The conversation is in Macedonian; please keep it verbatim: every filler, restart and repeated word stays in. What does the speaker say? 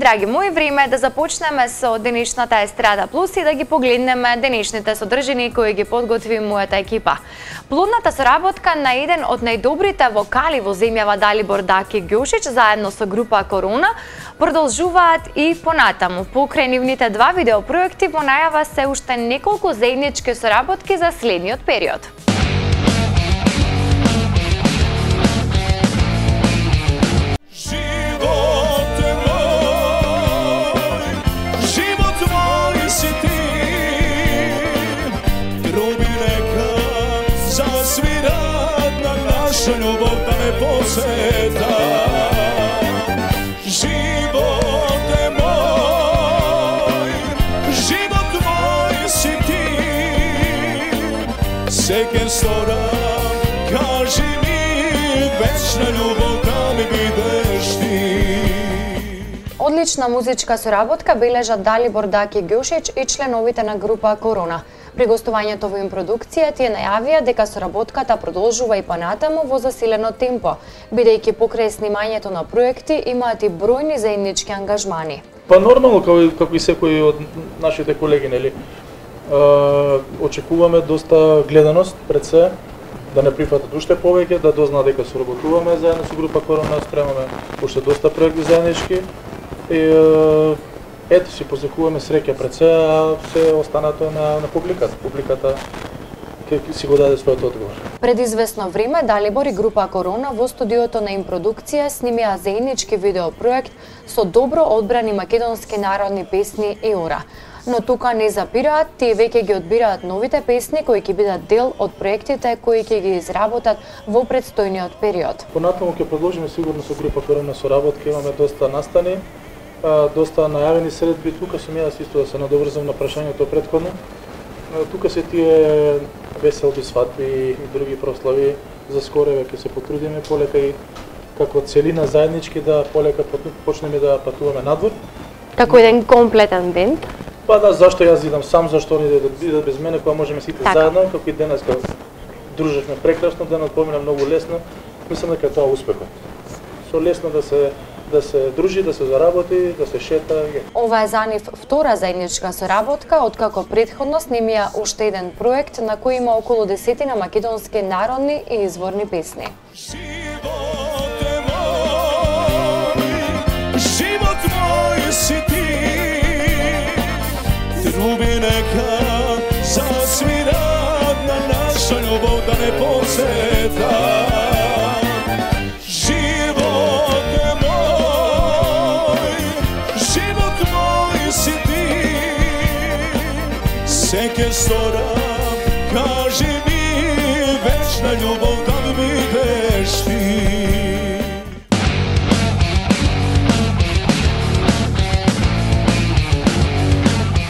драги мои, време е да започнеме со денешната Естрада Плюс и да ги погледнеме денешните содржини кои ги подготви мојата екипа. Плодната соработка на еден од најдобрите вокали во земјава Далибор Даки Ѓошич заедно со група Корона продолжуваат и понатаму. Покрај нивните два видеопроекти во најава се уште неколку заеднички соработки за следниот период. Љубов да не посета. Живот е мој, живот мој си ти. Се ке сторам, кажи ми, вечна љубов да ми бидеш ти. Одлична музичка соработка бележат Далибор Даки Ѓошич и членовите на група Корона. При гостувањето во им продукција тие најавија дека соработката продолжува и понатаму во засилено темпо, бидејќи покрај снимањето на проекти имаат и бројни заеднички ангажмани. Па нормално, како, како и секој од нашите колеги, нели? Очекуваме доста гледаност пред се, да не прифатат уште повеќе, да дознаат дека соработуваме заедно со група Корона, спремаме уште доста проекти заеднички. И, ето си позекуваме среќа пред се, а се останато на, на публиката. Публиката ќе си го даде својот одговор. Пред известно време Далибор и група Корона во студиото на им продукција снимија заеднички видеопроект со добро одбрани македонски народни песни и ора. Но тука не запираат, тие веќе ги одбираат новите песни кои ќе бидат дел од проектите кои ќе ги изработат во предстојниот период. Понатаму ќе продолжиме сигурно со група Корона соработка, имаме доста настани. Доста најавени средби, тука сум јас исто да се надоврзам на прашањето претходно. Тука се тие веселби, свадби и други прослави. За скоро ќе се потрудиме полека и како целина заеднички да полека почнеме да патуваме надвор. Како еден комплетен бенд? Па да, зашто јас идам сам, зашто они да идат без мене, кога можеме сите така заедно, како и денес кога дружевме прекрасно, денот помина многу лесно. Мислам дека тоа успехот. Со лесно да се да се дружи, да се заработи, да се шета. Ова е за нив втора заедничка соработка, откако претходно снимија уште еден проект на кој има околу десетина македонски народни и изворни песни. Живот е мој, живот мој си ти. Труби нека засвират на наша љубов да не посета. Се ке сторам, кажи ми, вечна љубов да